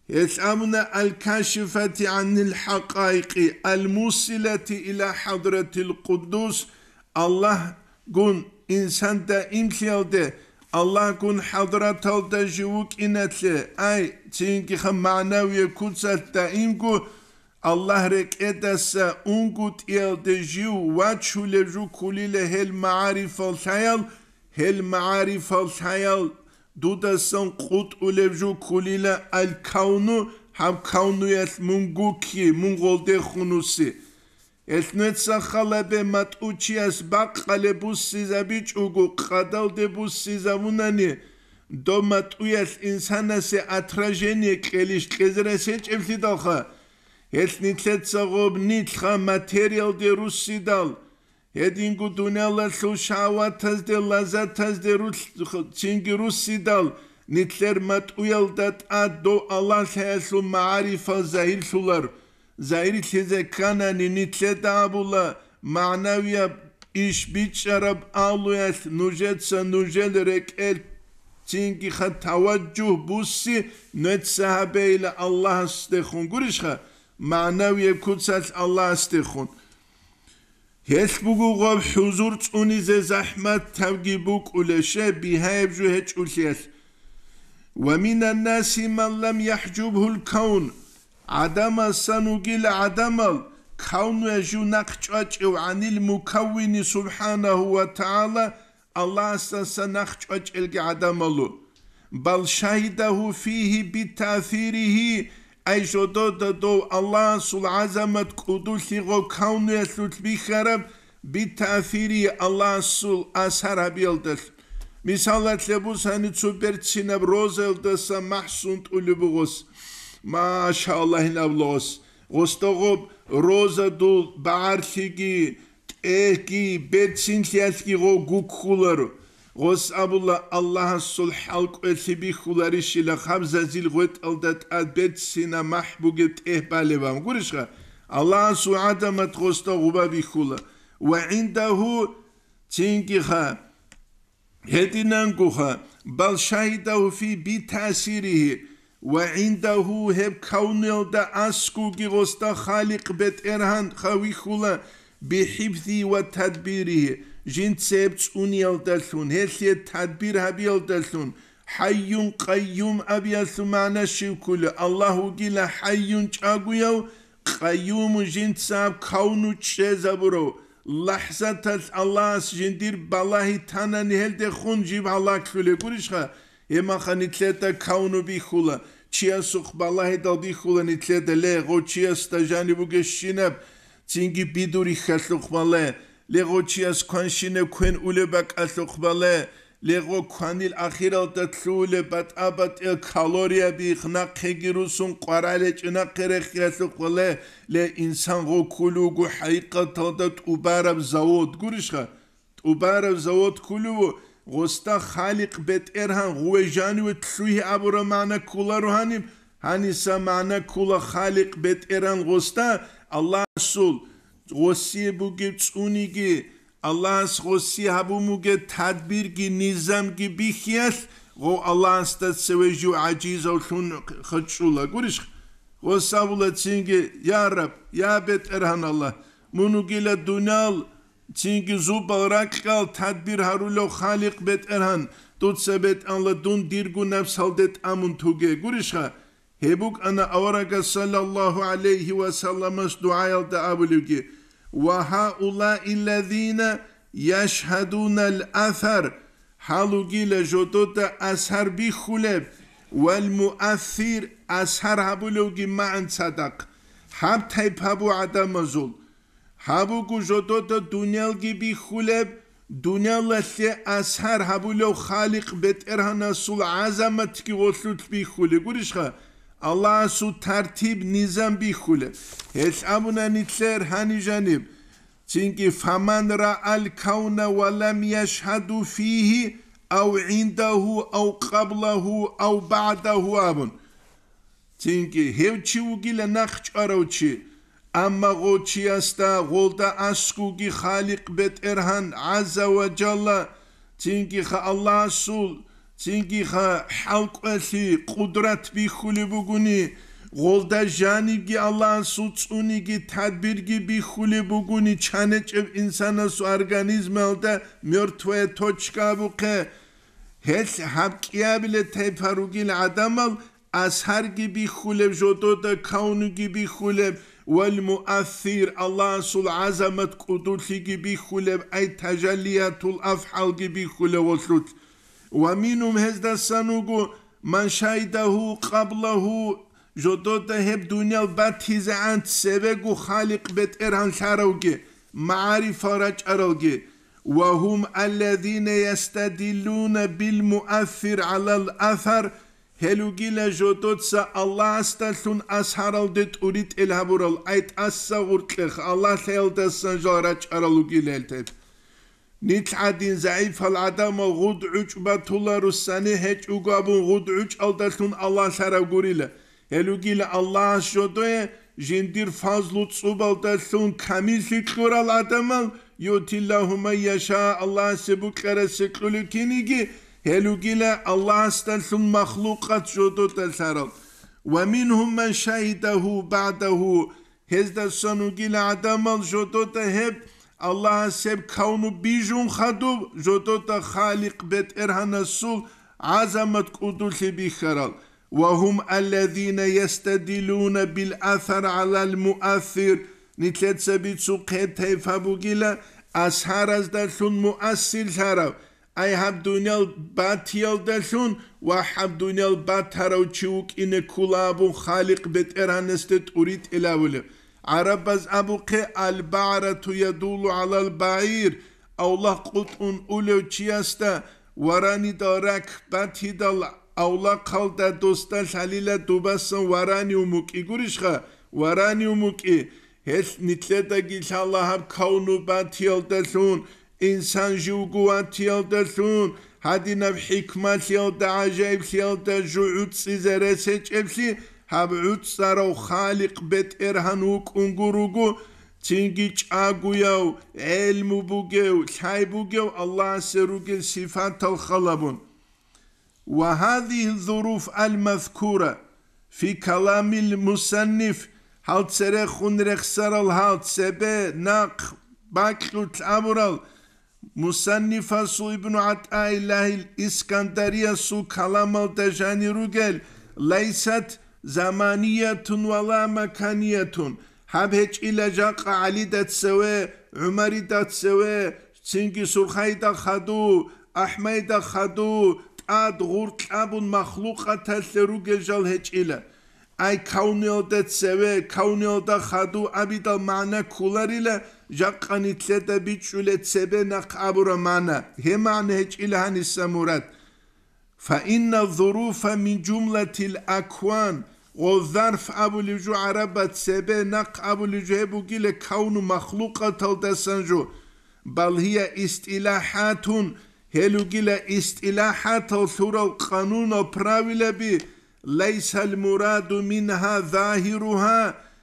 Гьелъ абуна: «Ал-кашифати гӀанил хӀакъаикъи, ал-мусилати иля хӀадратил къуддус», Аллагьгун инсан даимлъиялде, Аллагьгун хӀадраталда жив вукӀиналъе, ай, цинги ха магӀнавияб куцалъ даимго Аллагь рекӀедаса унгутӀиялде жив вачулеб жо кколила гьел магӀарифал лъаял, гьел магӀарифал лъаял дудасан къутӀулеб жо кколила аль-кавну, гьаб кавнуялъ мун гукки, мун гъолдехун вуси. Гьелъ нугьеца халабе матӀу чияс бакъалеб буссизабичӀого, къадалде буссизабунани, доб матӀуялъ инсанасе отражение кьелищ кьезе рес гьечӀеблъидалха? Гьелъ нилъеца гъоб нилъха материалде руссидал, гьединго дуниялалъул шагьаватазде, лаззатазде рулъ-, цинги руссидал, нилъер матӀуялда тӀад дов Аллагьлъаялъул магӀарифал загьирлъулар. Загьирлъизе кканани, нилъеда абула, магӀнавияб иш бичӀчӀараб алуялъ нужеца нужел рекӀел цинги ха таваджугь бусси, нугьеца гьабейила Аллагьасдехун, гурищха, магӀнавияб куцалъ Аллагьасдехун. Гьелъ буго гъаб хӀузур цӀунизе захӀматабги букӀулеб, щай бигьаяб жо гьечӀолъиялъ. «Ва минан наси ман лам яхӀжубгьул кавн», гӀадамасан вугила гӀадамал, кавнуя жив нахъ чӀвачӀев гӀанил мукаввини субхӀанагьу ва тагӀала, Аллагьасдаса нахъ чӀвачӀелги гӀадамалу. «Бал шагьидагьу фигьи битаъсиригьи», ай жодода дов Аллагьасул гӀазамат кӀудулъи гъо кавнуялъулъ бихьараб, битаъсиригьи Аллагьасул асар гьабиялдалъ. Мисалалъе бусани цо берцинаб розаялдаса махӀ сунтӀулеб бугос. Машаллагь, гьин абулагъос. Гъосда гъоб розадул багӀарлъиги, тӀегьги, берцинлъиялъги гъо гуккуларо. Гъос абула, Аллагьасул хӀалкӀвелъи бихьуларищила хабзазил гъветӀалда тӀад берцина махӀ бугеб тӀегь балебан. Гурищха? Аллагьасул гӀадамат гъосда гъуба бихьула. Ва гӀиндагьу, цинги ха, гьединангоха, бал шагьидагьу фи битаъсиригьи, ва гӀиндагьу, гьеб кавнуялда аскуги гъосда Халикъ БетӀергьан хавихьула, бихӀифзи ва тадбиригьи, жинца гьеб цӀуниялдалъун, гьелъие тадбир гьабиялдалъун, хӀайюн къайюм абиялъул магӀна щиб ккула? Аллагь вугила хӀайюн чӀагояв, къайюму жинца гьаб кавну чӀезабурав, лахӀзаталъ Аллагьас жиндир балагьи танани гьелдехун жиб гьалаглъулеб гурищха? Гьебмаха нилъеда кавну бихьула, чиясухъ балагьидал бихьула нилъеда, ле, гъо чиясда жаниб бугещинаб, цинги бидурихьалъухъ бале, ле, гъо чияс кванщинаб квен улеб бакӀалъухъ бале, Ле гъо кванил ахиралда лъугьулеб батӀа-батӀиял калорияби, нахъеги русун къваралечӀе, нахъе рехиялъухъ вале, ле инсан гъо ккулев вуго хӀакъикъаталда тӀубараб завод, гурищха? ТӀубараб завод ккулев ву, гъосда Халикъ БетӀергьан гъуве жаниве лъугьи абураб магӀна кколаро гьаниб, гьаниса магӀна ккола Халикъ БетӀергьан гъосда, Аллагьасул гъосие бугеб цӀуниги, Аллагьас гъосие гьабун бугеб тадбирги низамги бихьиялъ, гъов Аллагьасда цеве жив гӀажизавлъун хъачӀула. Гурищ, гъос абула цинги: «Я Раб, я БетӀергьан Аллагь, мун вугила дуниял цинги зубал ракьал тадбир гьарулев Халикъ БетӀергьан, дуца бетӀанла дун дирго напс гьалде тӀамун туге». Гурищха? Гьеб букӀана аварагас саллаллагьу гӀалайгьи ва салламас дугӀаялда абулевги: «Ва гьаулаи ллазина яшгьадунал асар», гьал ругила жодода асар бихьулеб, вал муассир, асар гьабулевги магӀан цадахъ. Гьаб тайпа бу гӀадамазул. Гьаб буго жодода дуниялги бихьулеб, дуниялалъе асар гьабулев Халикъ БетӀергьанасул гӀазаматги гъолъулъ бихьулеб гурищха, Аллагьасул тартиб-низам бихьулеб. Гьелъ абуна нилъер гьаниб жаниб, цинги: «Фаман раал кавна ва лам яшгьаду фигьи ав гӀиндагьу ав къаблагьу ав багӀдагьу», абун. Цинги гьев чи вугила нахъ чӀварав чи, амма гъов чиясда гъолда аскӀовги Халикъ БетӀергьан гӀазза ва жалла, цинги ха Аллагьасул, цинги ха хӀалкӀолъи къудрат бихьулеб бугони, гъолда жанибги Аллагьасул цӀуниги тадбирги бихьулеб бугони, чанечӀеб инсанасул организмалда мёртвая точка абухъе, гьелъ гьаб кӀиабиле тайпа ругил гӀадамал асарги бихьулеб, жодода кавнуги бихьулеб, вал муассир, Аллагьасул гӀазамат кӀудулъиги бихьулеб, ай тажаллиятул афгӀалги бихьулеб гъолъулъ. Ва мингьум, гьездасан вуго, ман шагьидагьу къаблагьу, жодода гьеб дуниял батизегӀан цебего Халикъ БетӀергьан лъаравги, магӀарифал рачӀаралги, ва гьум аллазина ястадиллуна бил муассир гӀалал асар, гьел ругила жодоца Аллагьасдалъун асаралде тӀуритӀел гьабурал, ай тӀаса гъуркьех Аллагьлъаялдасан жал рачӀарал ругила гьел тайпа. Нилъ гӀадин загӀипал гӀадамал гъуд гӀучӀ батула, руссани гьечӀого абун гъуд гӀучӀалдалъун Аллагь лъарав гурила. Гьел ругила Аллагьас жодое жиндир фазлу цӀубалдалъун камиллъи кьурал гӀадамал, юътиллагьу ман яша, Аллагьасе букьарасе кьулев киниги, гьел ругила Аллагьасдалъун махлукъат жодода лъарал. Ва мингьум ман шагьидагьу багӀдагьу, гьездасан вугила гӀадамал жодода гьеб Аллагьас гьеб кавну бижун хадуб, жодода Халикъ БетӀергьанасул гӀазамат кӀудулъи бихьарал. Ва гьум аллазина ястадиллуна бил асар гӀалал муассир, нилъеца бицухъе тайпа бугила асараздалъун муассир лъарав, ай гьаб дуниял батиялдалъун ва гьаб дуниял батарав чи вукӀине ккула абун Халикъ БетӀергьанасде тӀуритӀел абулеб. ГӀарабаз абухъе: «Аль-багӀрату ядуллу гӀалал багӀир», авлахъ къутӀун улев чиясда варанидал рак батидал авлахъалда досда лъалила дубасан варанив мукӀи гурищха, варанив мукӀи. Гьелъ нилъедаги лъала гьаб кавну батиялдалъун, инсан живго ватиялдалъун, гьадинаб хӀикмалъиялда, гӀажаиблъиялда жо гӀуцӀизе рес гьечӀеблъи, гьаб гӀуцӀарав Халикъ БетӀергьан вукӀунго руго, цинги чӀагояв, гӀелму бугев, лъай бугев Аллагьасе ругел сифатал халабун. Ва гьазигьи зуруф аль-мазкура фи каламил мусанниф, гьал церехун рехсарал гьал цебе нахъ бакьулъ абурал, мусаннифасул Ибну ГӀатӀаиллагьил Искандариясул каламалда жанир ругел, лайсат заманиятун ва ла маканиятун, гьаб гьечӀила жакъа ГӀалида цеве, ГӀумарида цеве, цинги Сурхайда хаду, АхӀмайда хаду, тӀад гъур кьабун махлукъаталъе ругел жал гьечӀила. Ай кавниялда цеве, кавниялда хаду абидал магӀна кколарила, Жакъа нилъеда бичӀчӀулеб цебе нахъ абураб магӀна, гьеб магӀна гьечӀила гьаниса мурад. Фаинна зуруфа мин жумлатил акван, ва зарф абулеб жо гӀарабаз цебе нахъ абулеб жо гьеб бугила кавну махлукъаталдасан жо, бал гьия истилахӀатун, гьел ругила истилахӀатал лъурал къанунал правилаби, лайсал мураду мингьа загьиругьа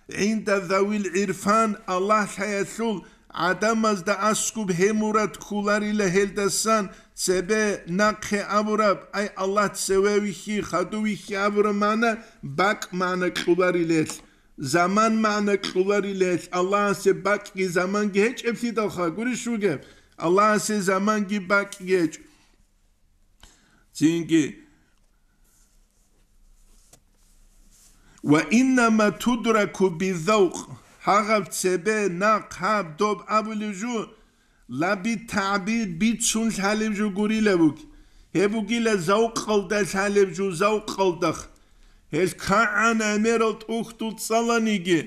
гӀинда завил гӀирфан, Аллагь лъаялъул гӀадамазда аскӀуб гьеб мурад кколарила гьелдасан цебе нахъе абураб, ай Аллагь цеве вихьи, хадув вихьи абураб магӀна бакӀ магӀна кьоларилелъ, заман магӀна кьоларилелъ, Аллагьасе бакӀги заманги гьечӀеблъидалха гурищ вугеб, Аллагьасе заманги бакӀги гьечӀо. Цинги, ва иннама тудраку бизавкъ, гьагъаб цебе нахъ гьаб доб абулеб жо, ла битагӀбир бицун лъалеб жо гурила буги. Гьеб бугила завкъалда лъалеб жо, завкъалдахъ. Гьел кагӀан гӀемерал тӀухьдул цӀаланиги,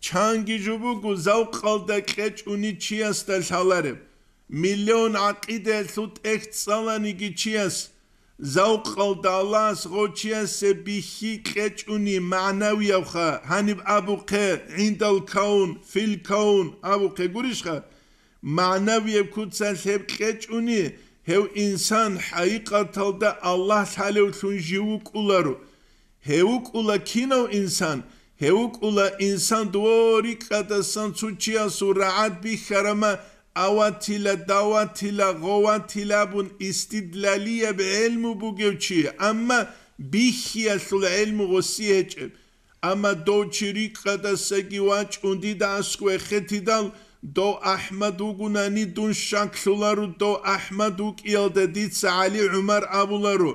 чанги жо буго завкъалда кьечӀуни чиясда лъалареб. Миллион гӀакъидаялъул тӀехь цӀаланиги чияс, завкъалда Аллагьас гъов чиясе бихьи кьечӀуни магӀнавиябха, гьаниб абухъе, гӀиндал каун, фил каун абухъе гурищха? МагӀнавияб куцалъ гьеб кьечӀуни, гьев инсан хӀакъикъаталда Аллагь лъалевлъун жив вукӀуларо. Гьев вукӀула кинав инсан? Гьев вукӀула инсан дов рикӀкӀадасан цо чиясул рагӀад бихьарама, аватила, даватила, гъоватила абун истидлалияб гӀелму бугев чи, амма бихьиялъул гӀелму гъосие гьечӀеб. Амма дов чи рикӀкӀадасаги вачӀун дида аскӀове хетидал, дов АхӀмад вугунани дун щаклъуларо, дов АхӀмад вукӀиялда дица ГӀали ГӀумар абуларо,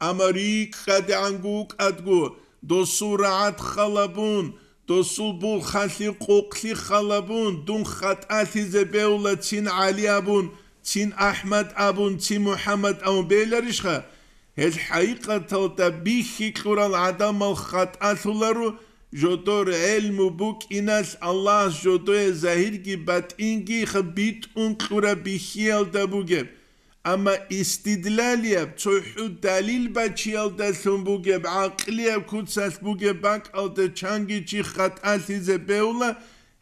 амма рикӀкӀадегӀанго вукӀадго, досул рагӀад халабун, досул булхъалъи къукълъи халабун, дун хатӀалъизе бевла цин ГӀали абун, цин АхӀмад абун, цин МухӀаммад абун бейларищха? Гьел хӀакъикъаталда бихьи кьурал гӀадамал хатӀалъуларо, жодор гӀелму букӀиналъ Аллагьас жодое загьирги батӀинги битӀун кьураб бихьиялда бугеб. Амма истидлалияб, цохӀо далил бачиялдалъун бугеб, гӀакълияб куцалъ бугеб бакӀалда чанги чи хатӀалъизе бевла,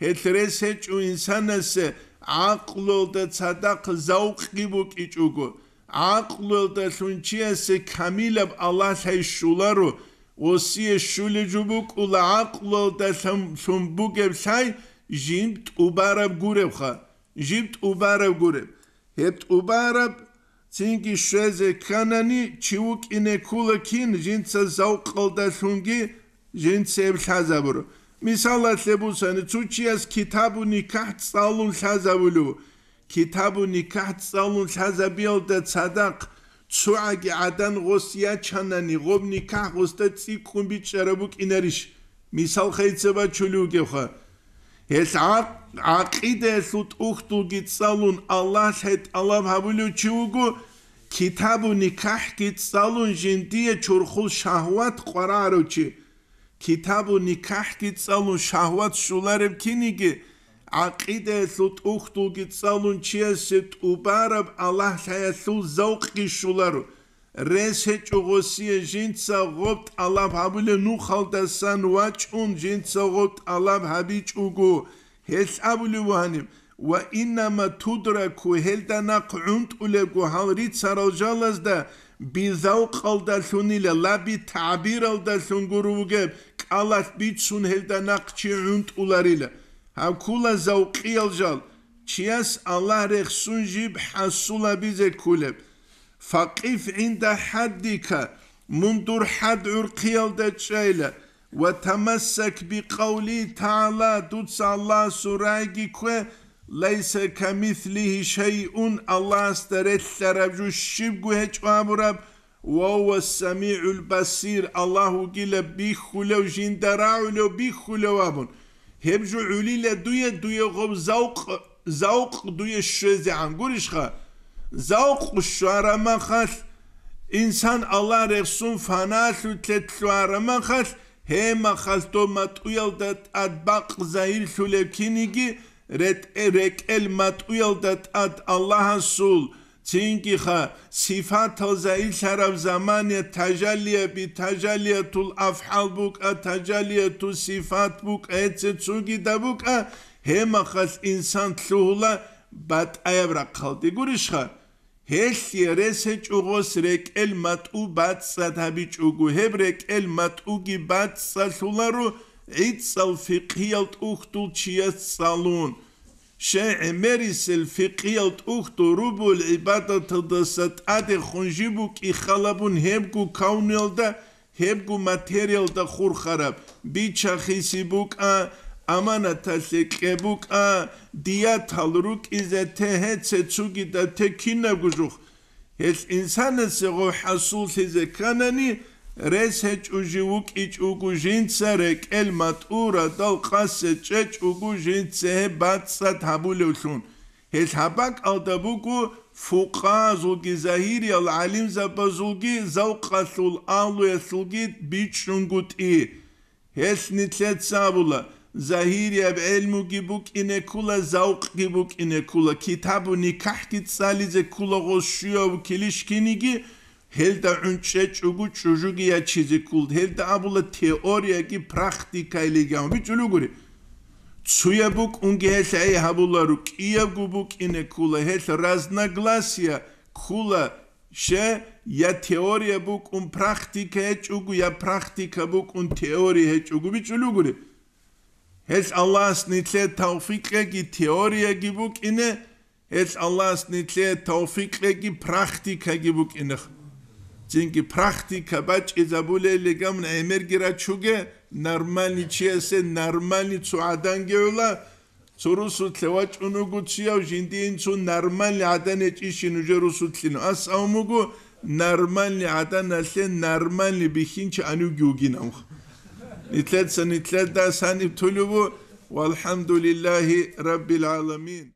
гьелъ рес гьечӀо инсанасе гӀакълуялда цадахъ завкъги букӀичӀого, гӀакълуялдалъун чиясе камилаб Аллагь лъай щоларо, гъосие щулеб жо букӀула гӀакълуялдалъун бугеб лъай жиб тӀубараб гуребха, жиб тӀубараб гуреб. Гьеб тӀубараб цинги щвезе кканани, чи вукӀине ккола кин, жинца завкъалдалъунги жинца гьеб лъазабуро. Мисалалъе бусани, цо чияс китабу никахӀ цӀалун лъазабулев. Китабу никахӀ цӀалун лъазабиялда цадахъ цогӀаги гӀадан гъос ячанани, гъоб никахӀ гъосда цӀикӀкӀун бичӀчӀараб букӀинарищ? Мисал хъайца бачулев вугевха. Гьелъ гӀакъ-, гӀакъидаялъул тӀухьдулги цӀалун, Аллагь лъай тӀалаб гьабулев чи вуго, китабу никахӀги цӀалун жиндие чорхол шагьват къварагӀарав чи. Китабу никахӀги цӀалун шагьват щолареб киниги, гӀакъидаялъул тӀухьдулги цӀалун чиясе тӀубараб Аллагь лъаялъул завкъги щоларо. Рес гьечӀо гъосие жинца гъоб тӀалаб гьабулеб нухалдасан вачӀун, жинца гъоб тӀалаб гьабичӀого, гьелъ абулев вугьаниб, ва иннама тудраку, гьелда нахъ гӀунтӀулебго гьал рицарал жалазда, бизавкъалдалъунила, ла битагӀбиралдалъун гуро вугеб, кӀалалъ бицун гьелда нахъ чи гӀунтӀуларила. Гьаб ккула завкъиял жал, чияс Аллагь рехсун жиб хӀасулабизе кколеб. Факъиф гӀинда хӀаддика, мун дур хӀад гӀурхъиялда чӀайла, ва тамассак бикъавли тагӀала, дуца Аллагьасул рагӀиги ккве, лайса камислигьи шайъун, Аллагьасда релълъараб жо щибго гьечӀо абураб, ва гьува самигӀул басир, Аллагь вугила бихьулев, жинда рагӀулев, бихьулев абун. Гьеб жо гӀолила дуе, дуе гъоб завкъ, завкъ дуе щвезегӀан гурищха? Завкъ щвараб махалъ, инсан Аллагь рехсун фаналъулъе лъугьараб махалъ, гьеб махалъ доб матӀуялда тӀад бакъ загьирлъулеб киниги, ретӀе-, рекӀел матӀуялда тӀад Аллагьасул, цинги-ха, сифатал загьирлъараб замане тажаллия-, битажаллиятул афгӀал букӀа, тажаллиятул сифат букӀа, гьеце цогидаб букӀа, гьеб мехалъ инсан лъугьула батӀаяб рахъалде. Гурищха? Гьелъие рес гьечӀо гъос рекӀел матӀу бацӀцӀад гьабичӀого, гьеб рекӀел матӀуги бацӀцӀалъуларо гӀицӀал фикъгьиял тӀухьдул чияс цӀалун. Щай гӀемерисел фикъгьиял тӀухьдул рубугӀул гӀибадаталдаса тӀадехун жиб букӀи халабун гьебго кавнуялда, гьебго материалда хурхараб, бича-хиси букӀа, аманаталъе кье букӀа, диятал рукӀизе те, гьеце цогидаб те кинабго жух. Гьелъ инсанасе гъов хӀасуллъизе кканани, рес гьечӀо жив вукӀичӀого жинца рекӀел матӀу радал къасе чӀечӀого жинца гьеб бацӀцӀад гьабулевлъун. Гьелъ гьаб бакӀалда буго фукъагьазулги загьириял гӀалимзабазулги завкъалъул агьлуялъулги бичӀчӀунгутӀи. Гьелъ нилъеца абула, загьирияб гӀелмуги букӀине ккола, завкъги букӀине ккола, китабу никахӀги цӀализе ккола гъос щуяв килищ киниги, гьелда гӀунчӀечӀого чӀужуги ячизе ккола, гьелда абула теорияги практикайилиган бичӀчӀулугури. Цуяб букӀунги гьелъ гӀей гьабуларо, кӀиябго букӀине ккола, гьелъ разногласия ккола, щай, я теория букӀун практика гьечӀого, я практика букӀун теория гьечӀого бичӀчӀулугури. Гьелъ Аллагьас нилъее тавфикъ кьеги теорияги букӀине, гьелъ Аллагьас нилъее тавфикъ кьеги практикаги букӀинеха. Цинги практика бачӀизабулелигамун гӀемерги рачуге, нормальный чиясе нормальный цо гӀаданги гӀула, цо русулъе вачӀун вуго чияв, жиндиин цо нормальный гӀадан гьечӀищин нужер русулъин. Ас авун буго, нормальный гӀаданалъе нормальный бихьинчи анивги вугинав. Нилъеца нилъеда саниб тулебу, валхӀамдулиллагьи раббил гӀаламин.